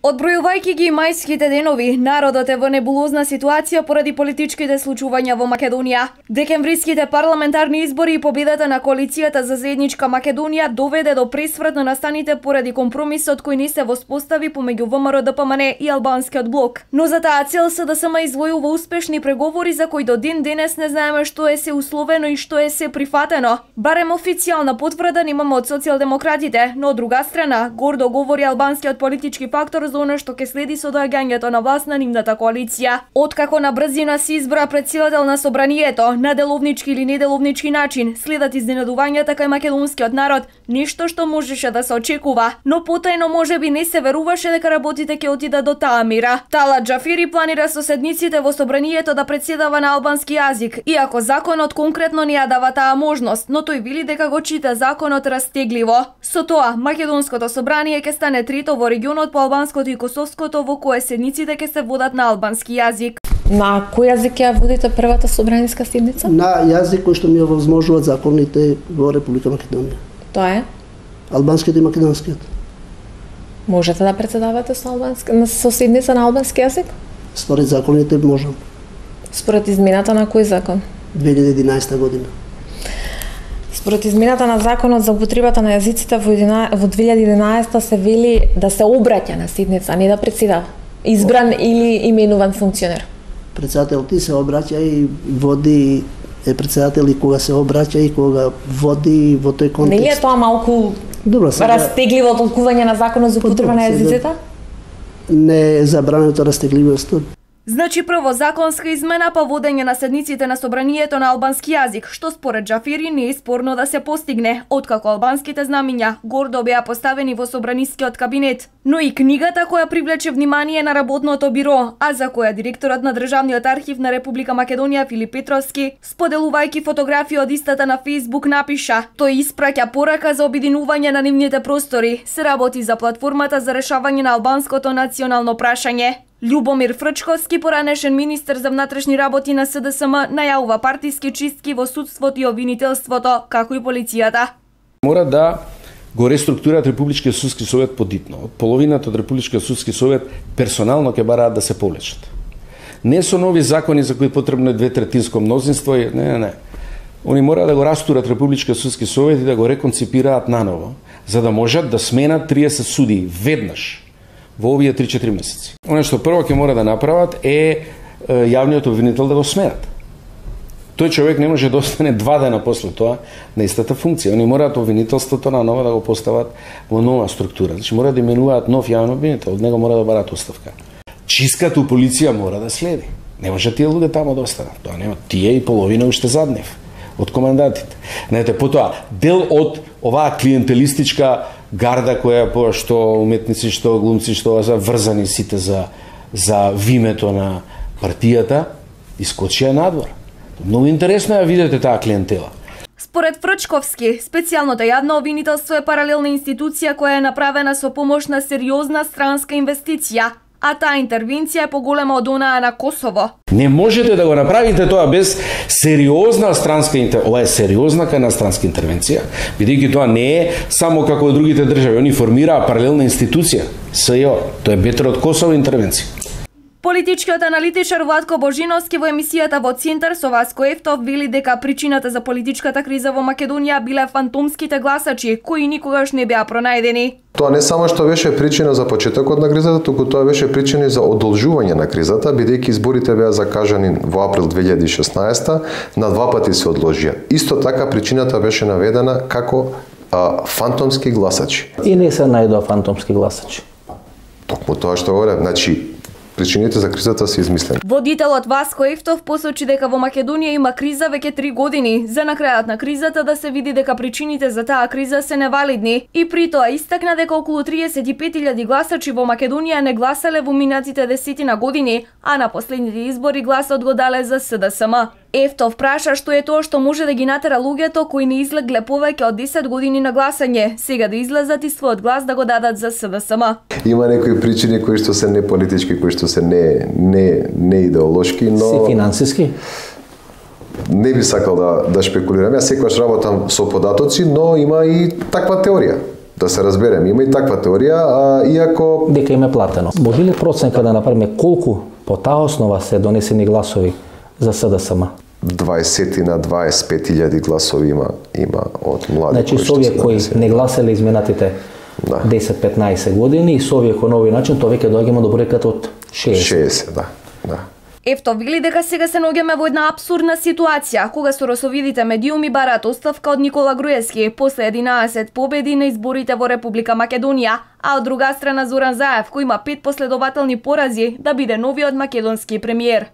Одбројувајќи ги мајските денови, народот е во небулозна ситуација поради политичките случувања во Македонија. Декемвриските парламентарни избори и победата на коалицијата за заедничка Македонија доведе до пресврт на настаните поради компромисот кој не се воспостави помеѓу ВМРО ДПМН и албанскиот блок. Но за таа цел СДСМ извојува успешни преговори за кои до ден денес не знаеме што е се условено и што е се прифатено. Барем официјална потврда немаме од социјалдемократите, но од друга страна гордо говори албанскиот политички фактор за она што ќе следи со доаѓањето на власт на нивната коалиција. Откако на брзина се избра претседател на собранието, на деловнички или неделовнички начин, следат изненадувањата кај македонскиот народ, нешто што можеше да се очекува, но потајно можеби не се веруваше дека работите ќе отидат до таа мера. Талат Џафери планира со седниците во собранието да претседава на албански јазик, иако законот конкретно не ја дава таа можност, но тој вели дека го чита законот растегливо. Со тоа, македонското собрание ќе стане трето во регионот по албанското и косовското во кое седниците ќе се водат на албански јазик. На кој јазик ја водите првата собраниска седница? На јазик кој што ми овозможуваат законите во Република Македонија. Тоа е? Албанскиот и македонскиот. Можете да претседавате со седница на албански јазик? Според законите можам. Според измената на кој закон? 2011 година. Според измената на законот за употребата на јазиците во 2011 се вели да се обраќа на седница, не да претседава. Избран или именуван функционер. Председател ти се обраќа и води, е председател и кога се обраќа и кога води во тој контекст. Не е тоа малку растегливо толкување на законот за употреба на јазиците? Не е забрането растегливост. Значи прво законска измена па водење на седниците на собранието на албански јазик, што според Џафери не е спорно да се постигне, откако албанските знамиња гордо беа поставени во собранискиот кабинет. Но и книгата која привлече внимание на работното биро, а за која директорот на Државниот архив на Република Македонија Филип Петровски, споделувајќи фотографии од истата на Facebook, напиша: тој испраќа порака за обединување на нивните простори, се работи за платформата за решавање на албанското национално прашање. Љубомир Фрчковски, поранешен министер за внатрешни работи на СДСМ, најавува партиски чистки во судството и обвинителството, како и полицијата. Мора да го реструктурираат Републичкиот судски совет подитно. Од половината од Републичкиот судски совет персонално ќе бараат да се повлечат. Не со нови закони за кои потребно е 2/3 мнозинство, не. Они мора да го растурат Републичкиот судски совет и да го реконципираат наново, за да можат да сменат 30 судии веднаш во овие 3-4 месеци. Оно што прво ќе мора да направат е јавниот обвинител да го сменат. Тој човек не може да остане 2 дена после тоа на истата функција. Они мораат обвинителството на нова да го постават во нова структура. Значи мора да именуваат нов јавен обвинител, од него мора да бараат оставка. Чистката у полиција мора да следи. Не може тие луѓе тамо да останат. Тоа нема. Тие и половина уште заднев од командантите. Знаете, потоа дел од оваа клиентелистичка гарда која што уметници, што глумци, што врзани сите за вимето на партијата, искочија надвор. Многу интересно ја видите таа клиентела. Според Фрчковски, специјалното јавно обвинителство е паралелна институција која е направена со помош на сериозна странска инвестиција, а таа интервенција е поголема од онаа на Косово. Не можете да го направите тоа без сериозна странска интервенција. Ова е сериозна странска интервенција, бидејќи тоа не е само како од другите држави, они формираа паралелна институција, СЈО, тоа е бетер од Косово интервенција. Политичкиот аналитичар Владко Божиновски во емисијата во Центар со Васко Ефтов вели дека причината за политичката криза во Македонија биле фантомските гласачи, кои никогаш не беа пронајдени. Тоа не само што беше причина за почетокот на кризата, туку тоа беше причина за одолжување на кризата, бидејќи изборите беа закажани во април 2016, на 2 пати се одложија. Исто така причината беше наведена како фантомски гласачи. И не се најдоа фантомски гласачи. Токму тоа што говорам, значи причините за кризата се измислени. Водителот Васко Ефтов посочи дека во Македонија има криза веќе 3 години, за на крајот на кризата да се види дека причините за таа криза се невалидни, и при тоа истакна дека околу 35.000 гласачи во Македонија не гласале во минатите 10 години, а на последните избори гласот го дале за СДСМ. Ефтов праша што е тоа што може да ги натера луѓето кои не излегле повеќе од 10 години на гласање, сега да излезат и својот глас да го дадат за СДСМ. Има некои причини кои што се не политички, кои што се не идеолошки, но се финансиски. Не би сакал да шпекулирам. Јас секогаш работам со податоци, но има и таква теорија. Да се разбереме, има и таква теорија, иако Дека им е платено. Може ли проценка да направиме колку по таа основа се донесени гласови за СДСМ? 20 на 25.000 гласови има од млади Значи, со овие кои не гласеле изминатите 10-15 години и со овие кои на овој начин, тоа веќе доаѓаме до бројката од 60. 60, да. Ефто вели дека сега се наоѓаме во една апсурдна ситуација, кога соросовидите медиуми бараат оставка од Никола Груевски после 11 победи на изборите во Република Македонија, а од друга страна Зоран Заев, кој има 5 последователни порази, да биде новиот македонски премиер.